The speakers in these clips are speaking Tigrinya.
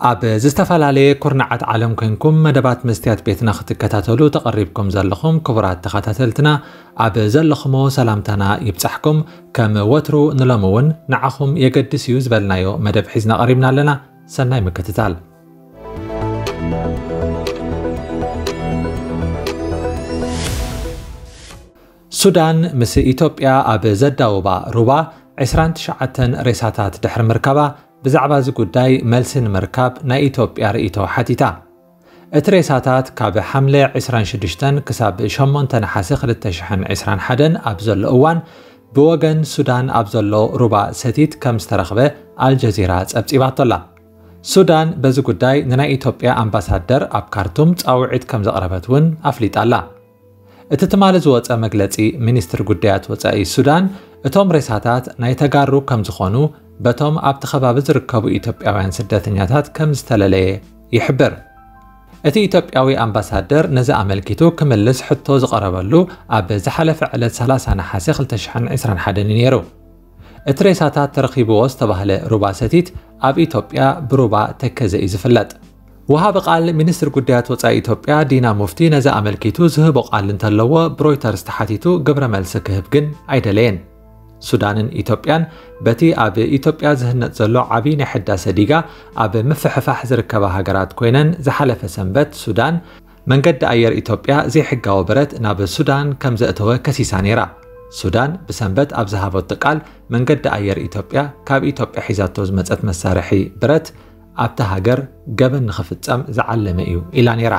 ኣብ ዝተፈላለየ ኩርናዓት ዓለም ኮይንኩም መደባት መስትያት ቤትና ክትከታተሉ ተቐሪብኩም ዘለኹም ክቡራት ተኸታተልትና፣ ኣብ ዘለኹሞ ሰላምታና ይብጻሕኩም። ከም ወትሩ ንሎሚ እውን ንዓኹም የገድስ እዩ ዝበልናዮ መደብ ሒዝና ቀሪብና ኣለና። ሰናይ ምክትታል። ሱዳን ምስ ኢትዮጵያ ኣብ ዘዳውባ ሩባ ዕስራን ትሽዓተን ሬሳታት ድሕሪ ምርካባ፣ ብዛዕባ እዚ ጉዳይ መልሲ ንምርካብ ናይ ኢትዮጵያ ርእይቶ ሓቲታ። እቲ ሬሳታት ካብ ሓምለ ዕስራን ሽዱሽተን ክሳብ ሸሞንተ ነሓሰ ክልተ ሽሕን ዕስራን ሓደን ኣብ ዘሎ እዋን፣ ብወገን ሱዳን ኣብ ዘሎ ሩባ ሰቲት ከም ዝተረኽበ ኣልጀዚራ ጸብጺባቶ ኣላ። ሱዳን በዚ ጉዳይ ንናይ ኢትዮጵያ ኣምባሳደር ኣብ ካርቱም ጻውዒት ከም ዘቕረበት እውን ኣፍሊጣ ኣላ። እቲ ትማሊ ዝወጸ መግለጺ ሚኒስትር ጉዳያት ወጻኢ ሱዳን፣ እቶም ሬሳታት ናይ ተጋሩ ከም ዝኾኑ በቶም ኣብቲ ከባቢ ዝርከቡ ኢትዮጵያውያን ስደተኛታት ከም ዝተለለየ ይሕብር። እቲ ኢትዮጵያዊ ኣምባሳደር ነዚ ኣመልኪቱ ክምልስ ሕቶ ዝቐረበሉ ኣብ ዝሓለፈ ዕለት ሰላሳ ነሓሰ ክልተ ሽሕን ዕስራን ሓደን እዩ ነይሩ። እቲ ሬሳታት ተረኺብዎ ዝተባህለ ሩባ ሰቲት ኣብ ኢትዮጵያ ብሩባ ተከዘ እዩ ዝፍለጥ። ወሃቢ ቃል ሚኒስትር ጉዳያት ወጻኢ ኢትዮጵያ ዲና ሙፍቲ ነዚ ኣመልኪቱ ዝህቦ ቃል እንተለዎ ብሮይተርስ ተሓቲቱ ግብረ መልሲ ክህብ ግን ኣይደለየን። ሱዳንን ኢትዮጵያን በቲ ኣብ ኢትዮጵያ ዝህነጽ ዘሎ ዓቢ ናይ ሕዳሰ ዲጋ ኣብ ምፍሕፋሕ ዝርከባ ሃገራት ኮይነን፣ ዝሓለፈ ሰንበት ሱዳን መንገዲ ኣየር ኢትዮጵያ ዘይሕጋዊ ብረት ናብ ሱዳን ከም ዘእተወ ከሲሳ ነይራ። ሱዳን ብሰንበት ኣብ ዝሃበቶ ቃል፣ መንገዲ ኣየር ኢትዮጵያ ካብ ኢትዮጵያ ሒዛቶ ዝመጸት መሳርሒ ብረት ኣብታ ሃገር ገበን ንኽፍጸም ዝዓለመ እዩ ኢላ ነይራ።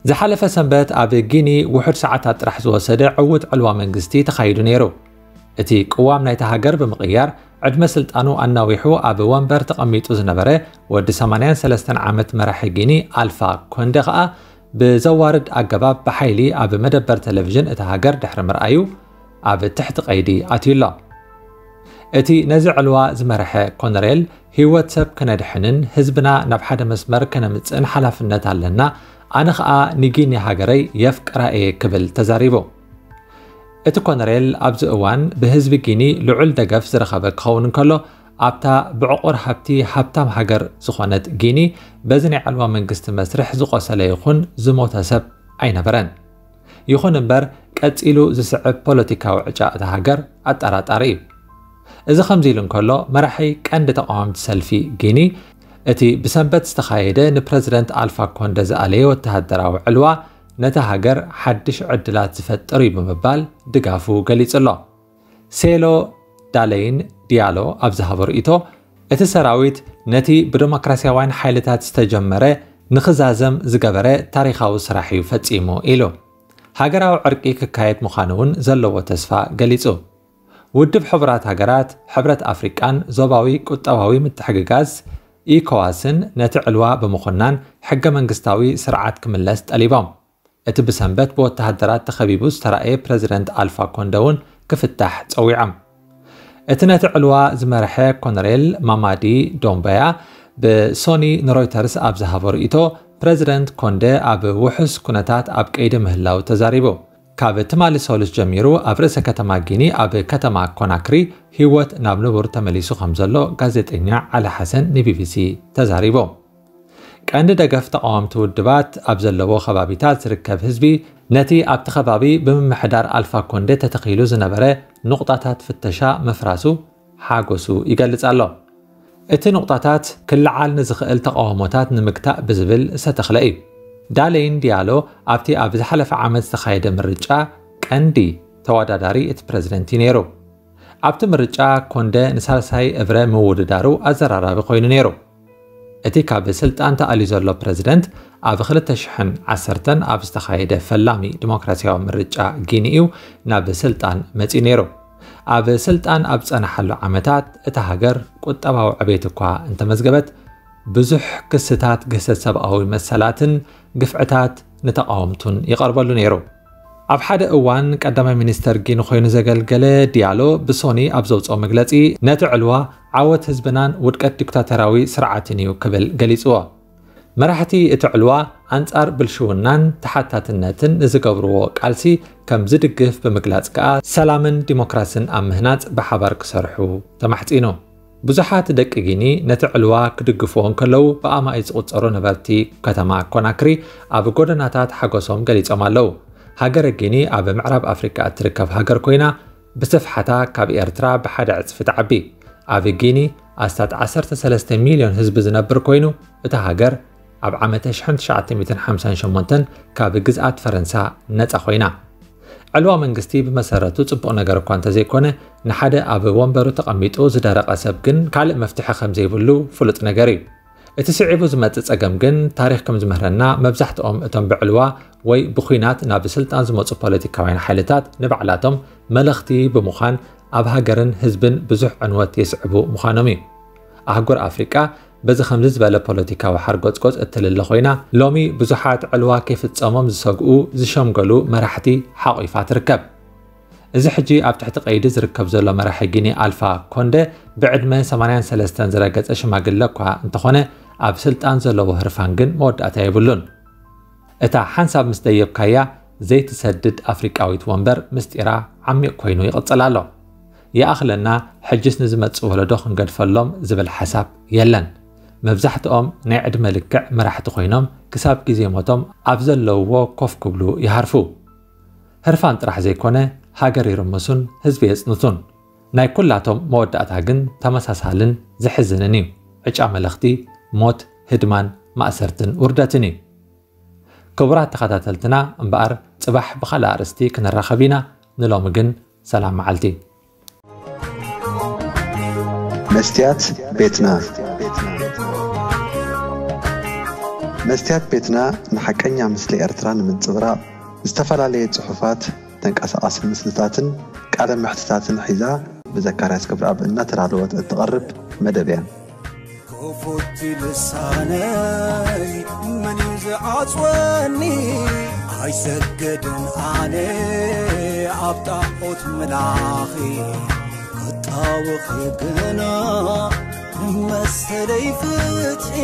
ዝሓለፈ ሰንበት ኣብ ጊኒ ውሑድ ሰዓታት ጥራሕ ዝወሰደ ዕዉት ዕልዋ መንግስቲ ተኻይዱ ነይሩ። እቲ ቅዋም ናይታ ሃገር ብምቕያር፣ ዕድመ ስልጣኑ ኣናዊሑ ኣብ ወንበር ተቐሚጡ ዝነበረ ወዲ ሰማንያን ሰለስተን ዓመት መራሒ ጊኒ ኣልፋ ኮንደ ከኣ ብዘዋርድ ኣገባብ ብሓይሊ ኣብ መደበር ቴሌቪዥን እታ ሃገር ድሕሪ ምርኣዩ፣ ኣብ ትሕቲ ቀይዲ ኣትዩ ኣሎ። እቲ ነዚ ዕልዋ ዝመርሐ ኮነሬል፣ ህይወት ሰብ ከነድሕንን ህዝብና ናብ ሓደ መስመር ከነምጽእን ሓላፍነት ኣለና፣ ኣነ ኸኣ ንጊኒ ሃገረይ የፍቅራ እየ ክብል ተዛሪቡ። እቲ ኮነሬል ኣብዚ እዋን ብህዝቢ ጊኒ ልዑል ደገፍ ዝረኸበ ክኸውን እንከሎ፣ ኣብታ ብዕቑር ሃብቲ ሃብታም ሃገር ዝኾነት ጊኒ፣ በዚ ናይ ዕልዋ መንግስቲ መስርሕ ዝቖሰለ ይኹን ዝሞተ ሰብ ኣይነበረን። ይኹን እምበር፣ ቀጺሉ ዝስዕብ ፖለቲካዊ ዕጫ እታ ሃገር ኣጠራጣሪ እዩ። እዚ ከምዚ ኢሉ እንከሎ፣ መራሒ ቀንዲ ተቓወምቲ ሰልፊ ጊኒ፣ እቲ ብሰንበት ዝተኻየደ ንፕረዚደንት ኣልፋ ኮንደ ዝኣለየ ወተሃደራዊ ዕልዋ፣ ነታ ሃገር ሓድሽ ዕድላት ዝፈጥር እዩ ብምባል ድጋፉ ገሊጹ ኣሎ። ሴሎ ዳለይን ዲያሎ ኣብ ዝሃቦ ርእይቶ፣ እቲ ሰራዊት ነቲ ብደሞክራስያውያን ሓይልታት ዝተጀመረ ንኽዛዘም ዝገበረ ታሪኻዊ ስራሕ እዩ ፈጺሙ ኢሉ። ሃገራዊ ዕርቂ ክካየድ ምዃኑ እውን ዘለዎ ተስፋ ገሊጹ። ውድብ ሕቡራት ሃገራት፣ ሕብረት ኣፍሪቃን ዞባዊ ቁጠባዊ ምትሕግጋዝ ኢኮዋስን ነቲ ዕልዋ ብምኹናን ሕገ መንግስታዊ ስርዓት ክምለስ ጠሊቦም። እቲ ብሰንበት ብወተሃደራት ተኸቢቡ ዝተራእየ ፕረዚደንት ኣልፋ ኮንደ እውን ክፍታሕ ጸዊዖም። እቲ ነቲ ዕልዋ ዝመርሐ ኮነሬል ማማዲ ዶምበያ ብሶኒ ንሮይተርስ ኣብ ዝሃቦ ርእይቶ፣ ፕረዚደንት ኮንደ ኣብ ውሑስ ኩነታት ኣብ ቀይዲ ምህላው ተዛሪቡ። ካብ ትማሊ ሰሉስ ጀሚሩ ኣብ ርእሰ ከተማ ጊኒ ኣብ ከተማ ኮናክሪ ህይወት ናብ ንቡር ተመሊሱ ከም ዘሎ ጋዜጠኛ ዓሊ ሓሰን ንቢቢሲ ተዛሪቡ። ቀንዲ ደገፍ ተቓወምቲ ውድባት ኣብ ዘለዎ ከባቢታት ዝርከብ ህዝቢ ነቲ ኣብቲ ከባቢ ብምምሕዳር ኣልፋ ኮንደ ተተኺሉ ዝነበረ ኑቕጣታት ፍተሻ ምፍራሱ ሓጎሱ ይገልጽ ኣሎ። እቲ ኑቕጣታት ክለዓል ንዝኽእል ተቓውሞታት ንምግታእ ብዝብል ዝተተኽለ እዩ። ዳለይን ዲያሎ ኣብቲ ኣብ ዝሓለፈ ዓመት ዝተኻየደ ምርጫ ቀንዲ ተወዳዳሪ እቲ ፕረዚደንት እዩ ነይሩ። ኣብቲ ምርጫ ኮንደ ንሳልሳይ እብረ ምውድዳሩ ኣዘራራቢ ኮይኑ ነይሩ። እቲ ካብ ስልጣን ተኣልዩ ዘሎ ፕረዚደንት ኣብ ክልተ ሽሕን ዓሰርተን ኣብ ዝተኻየደ ፈላሚ ዲሞክራሲያዊ ምርጫ ጊኒ እዩ ናብ ስልጣን መጺኡ ነይሩ። ኣብ ስልጣን ኣብ ጸናሓሉ ዓመታት እታ ሃገር ቁጠባዊ ዕቤት እኳ እንተመዝገበት፣ ብዙሕ ክስታት ግህሰት ሰብኣዊ መሰላትን ግፍዕታት ንተቓወምቱን ይቐርበሉ ነይሩ። ኣብ ሓደ እዋን ቀዳማይ ሚኒስተር ጊኒ ኮይኑ ዘገልገለ ዲያሎ ብሶኒ ኣብ ዘውፅኦ መግለፂ፣ ነቲ ዕልዋ ዓወት ህዝብናን ውድቀት ዲክታተራዊ ስርዓትን እዩ ክብል ገሊፅዎ። መራሕቲ እቲ ዕልዋ ኣንጻር ብልሽውናን ተሓታትነትን ንዝገብርዎ ቃልሲ ከም ዝድግፍ ብምግላጽ ከኣ፣ ሰላምን ዲሞክራስን ኣብ ምህናጽ ብሓባር ክሰርሑ ተማሕጺኑ። ብዙሓት ደቂ ጊኒ ነቲ ዕልዋ ክድግፍዎ እንከለዉ፣ ብኣማኢት ዝቑጸሩ ነበርቲ ከተማ ኮናክሪ ኣብ ጎደናታት ሓጎሶም ገሊጾም ኣለዉ። ሃገረ ጊኒ ኣብ ምዕራብ ኣፍሪቃ እትርከብ ሃገር ኮይና፣ ብስፍሓታ ካብ ኤርትራ ብሓደ ዕጽፊ ትዓቢ። ኣብ ጊኒ ኣስታት ዓሰርተ ሰለስተ ሚልዮን ህዝቢ ዝነብር ኮይኑ፣ እታ ሃገር ኣብ ዓመተ ሽሕን ትሽዓተ ሚእትን ሓምሳን ሸሞንተን ካብ ግዝኣት ፈረንሳ ነጻ ኮይና። ዕልዋ መንግስቲ ብመሰረቱ ጽቡቕ ነገር እኳ እንተዘይኮነ፣ ንሓደ ኣብ ወንበሩ ተቐሚጡ ዝደረቐ ሰብ ግን ካልእ መፍትሒ ከም ዘይብሉ ፍሉጥ ነገር እዩ። እቲ ስዒቡ ዝመጽእ ጸገም ግን፣ ታሪኽ ከም ዝምህረና፣ መብዛሕትኦም እቶም ብዕልዋ ወይ ብኹናት ናብ ስልጣን ዝመጹ ፖለቲካውያን ሓይልታት ንባዕላቶም መለኽቲ ብምዃን፣ ኣብ ሃገርን ህዝብን ብዙሕ ዕንወት የስዕቡ ምዃኖም እዩ። ኣህጉር ኣፍሪቃ በዚ ከምዚ ዝበለ ፖለቲካዊ ሓርጎጽጎጽ እትልለ ኮይና፣ ሎሚ ብዙሓት ዕልዋ ከይፍጸሞም ዝሰግኡ፣ ዝሸምገሉ መራሕቲ ሓቑፋ ትርከብ። እዚ ሕጂ ኣብ ትሕቲ ቀይዲ ዝርከብ ዘሎ መራሒ ጊኒ ኣልፋ ኮንደ ብዕድመ ሰማንያን ሰለስተን ዝረገጸ ሽማግለ እኳ እንተኾነ፣ ኣብ ስልጣን ዘለዎ ህርፋን ግን መወዳእታ የብሉን። እታ ሓንሳብ ምስ ደየብካያ ዘይትሰድድ ኣፍሪቃዊት ወንበር ምስጢራ ዓሚቕ ኮይኑ ይቕጽል ኣሎ። ይኣኽለና፣ ሕጅስ ንዝመጽእ ወለዶ ክንገድፈሎም ዝብል ሓሳብ የለን። መብዛሕትኦም ናይ ዕድመ ልክዕ መራሕቲ ኮይኖም፣ ክሳብ ግዜ ሞቶም ኣብ ዘለውዎ ኮፍ ክብሉ ይሃርፉ። ህርፋን ጥራሕ ዘይኮነ፣ ሃገር ይርምሱን ህዝቢ የጽንቱን። ናይ ኩላቶም መወዳእታ ግን ተመሳሳልን ዘሕዝንን እዩ። ዕጫ መለኽቲ፣ ሞት፣ ህድማን፣ ማእሰርትን ውርደትን እዩ። ክቡራት ተኸታተልትና፣ እምበኣር ጽባሕ ብኻልእ ኣርእስቲ ክንራኸብ ኢና። ንሎሚ ግን ሰላም መዓልቲ። መስትያት ቤትና። መስትያት ቤትና ንሓቀኛ ምስሊ ኤርትራ ንምንጽብራቕ፣ ዝተፈላለየ ጽሑፋት፣ ተንቀሳቓሲ ምስልታትን ቃለ መሕትታትን ሒዛ ብዘካርያስ ክብረኣብ እናተዳለወት እትቐርብ መደብ እያ። ክፉት ልሳነይ መን እዩ ዝዓጽወኒ? ኣይሰገድን ኣነ ኣብ ጣዖት ምላኺ፣ ክጣወኺ ግና መሰለይ ፍትሒ።